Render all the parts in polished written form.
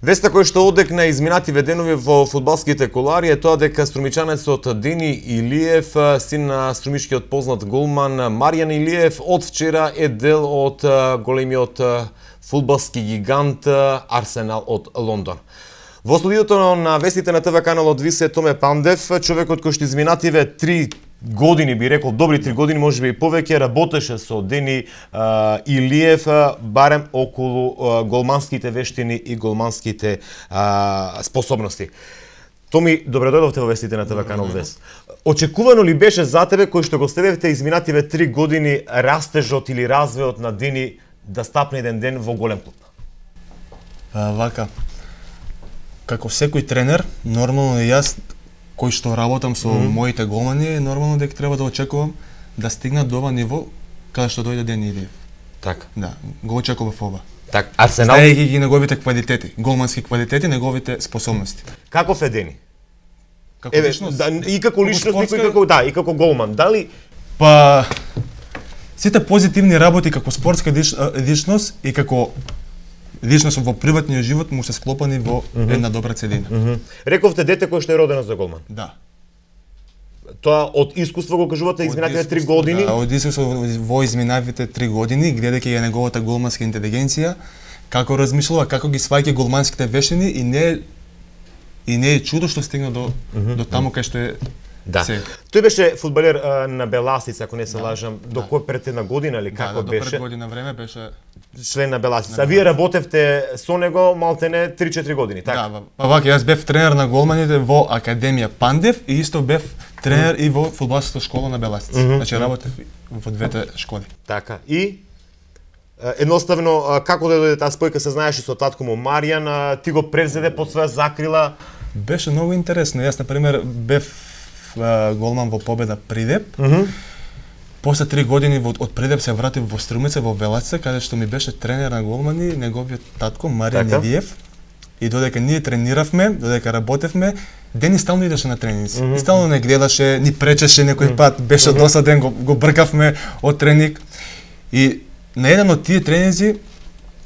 Веста која што одекна изминативе денови во фудбалските колари е тоа дека струмичанецот Дени Илиев, син на струмишкиот познат голман Маријан Илиев, од вчера е дел од големиот фудбалски гигант Арсенал од Лондон. Во студиото на вестите на ТВ каналот висе Томе Пандев, човекот кој што изминативе 3 години, би рекол, добри 3 години, можеби и повеќе, работеше со Дени Илиев, барем околу голманските вештини и голманските способности. Томи, добре дојдовте во вестите на ТВ канал Вест. Очекувано ли беше за тебе, кој што го следевте изминативе 3 години, растежот или развојот на Дени да стапне еден ден во голем клуб? Вака, како секој тренер, нормално и јас, кој што работам со моите голмани, нормално дека треба да очекувам да стигнат до ова ниво каде што дојде Дени Илиев. Така. Да, го очекував ова. Так, Арсенал знаејќи ги неговите квалитети, голмански квалитети, неговите способности. Каков е Дени? Како личност? Да, и како личност, и како голман. Дали па сите позитивни работи како спортска личност и како личност во приватниот живот му се склопани во една добра целина. Рековте дете кој што е родено за голман. Да. Тоа од искуство го кажувате изминативе 3 години? Да, од искуство во изминативите 3 години, гледајќи ја неговата голманска интелигенција, како размислува, како ги сваќа голманските вештини и не е чудо што стигна до таму кај што е. Да. Тој беше фудбалер на Беласица, ако не се лажам, до кој пред една година или како беше? До пред година време беше член на Беласица. А вие работевте со него малтене 3-4 години, така? Да, па вака, јас бев тренер на голманите во Академија Пандев и исто бев тренер и во фудбалската школа на Беласица. Значи работев во двете школи. Така. И едноставно како да дојде таа спојка, се знаеше со татко му Маријан, ти го превзеде под своја закрила? Беше многу интересно. Јас на пример бев голман во Победа Придеп. После 3 години од Придеп се вратив во Струмица, во Беласица, каде што ми беше тренер на голмани, неговиот татко Маријан Илиев. И додека ние трениравме, додека работевме, Дени стално идеше на тренинзи. И стално не гледаше, ни пречеше некој пат, беше досаден, го бркавме од тренинг. И на еден од тие тренинзи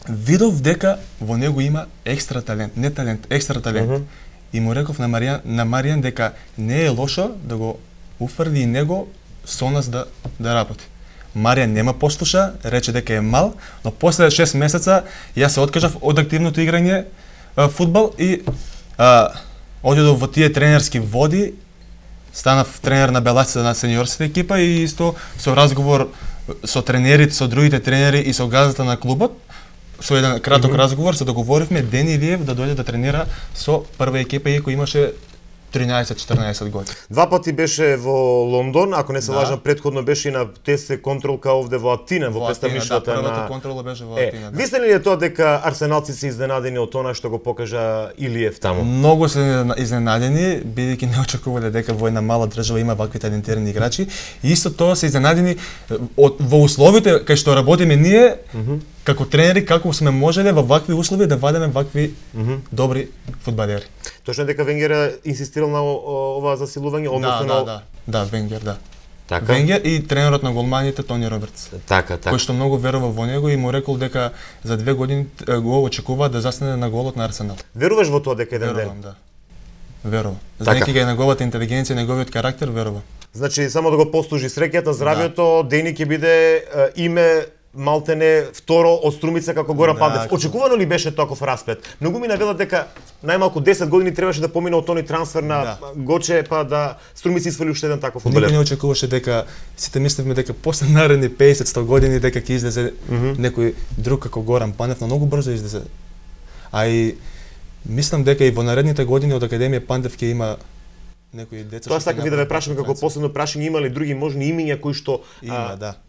видов дека во него има екстра талент, не талент, екстра талент. И му реков на Маријан дека не е лошо да го уфрли и него со нас да работи. Маријан нема послуша, рече дека е мал, но после 6 месеца јас се откажав од активното играње фудбал и одидов во тие тренерски води, станав тренер на Беласица на сениорската екипа и исто со разговор со тренерите, со другите тренери и со газата на клубот, со еден краток разговор се договоривме Дени Илиев да дојде да тренира со прва екипа иако имаше 13-14 години. 2 пати беше во Лондон, ако не се лажам, претходно беше и на ТС контролка овде во Атина, во представништвото на првата контрола беше во Атина. Мислите ли тоа дека арсеналци се изненадени од тоа што го покажа Илиев таму? Многу се изненадени, бидејќи не очекувале дека во една мала држава има вакви талентирани играчи. И исто тоа се изненадени во условите кај што работиме ние, како тренери, како сме можеле во вакви услови да вадеме вакви добри фудбалери. Точно дека Венгер инсистирал на ова засилување, односно Да, Венгер, да. Така. Венгер и тренерот на голманите Тони Робертс. Така. Кој што многу верува во него и му рекол дека за 2 години го очекува да застане на голот на Арсенал. Веруваш во тоа дека еден ден? Верувам, да. Верувам. Знаејќи ги неговата интелигенција, неговиот карактер, верувам. Значи само да го послужи среќата, здравјето, Дени ќе биде име малтене второ од Струмица како Горан Пандев. Очекувано ли беше таков расплет? Многу ми навелат дека најмалку 10 години требаше да помине од тони трансфер на Гоче, па да Струмица извали уште еден таков фудбалер. Никој не очекуваше дека сите мислевме дека после наредни 50-100 години дека ќе излезе некој друг како Горан Пандев, но многу брзо излезе. А и мислам дека и во наредните години од Академија Пандев ќе има некои деца. Тоа сакав и да ве прашам како последно прашање, има ли други можни имиња кои што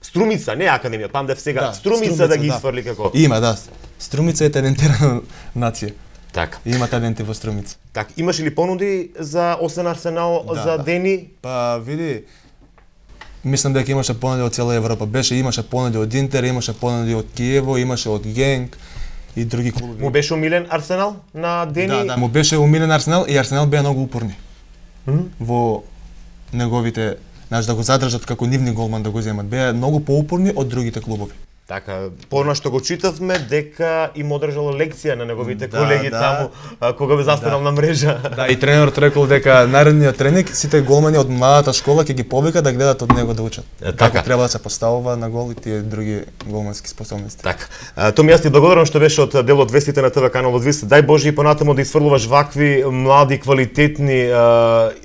Струмица, не Академија Пандев сега, Струмица да ги изфрли како? Има, да. Струмица е талентирана нација. Така. Има таленти во Струмица. Така, имаш ли понуди за освен Арсенал за Дени? Па види, мислам дека имаше понуди од цела Европа. Имаше понуди од Интер, имаше понуди од Киево, имаше од Генк и други клубови. Му беше умилен Арсенал на Дени? Да, му беше умилен Арсенал и Арсенал беа многу упорни во неговите, да го задржат како нивни голман да го земат. Беа многу поупорни од другите клубови. Така, порано што го читавме дека им одржало лекција на неговите колеги таму кога бе застанал на мрежа. Да, и тренерот рекол дека наредниот тренинг сите голмани од младата школа ќе ги повика да гледат од него да учат. Како треба да се поставува на гол и тие други голмански способности. Така. Томи, јас ти благодарам што беше од делот вестите на ТВ каналот Вист. Дај Боже и понатаму да изфрлуваш вакви млади квалитетни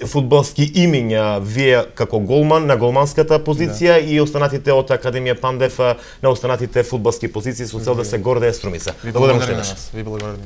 фудбалски имиња вие како голман на голманската позиција и останатите од Академија Пандев на останатите фудбалски позиции со цел да се гордее Струмица. Благодарам уште еднаш. Ви благодарам.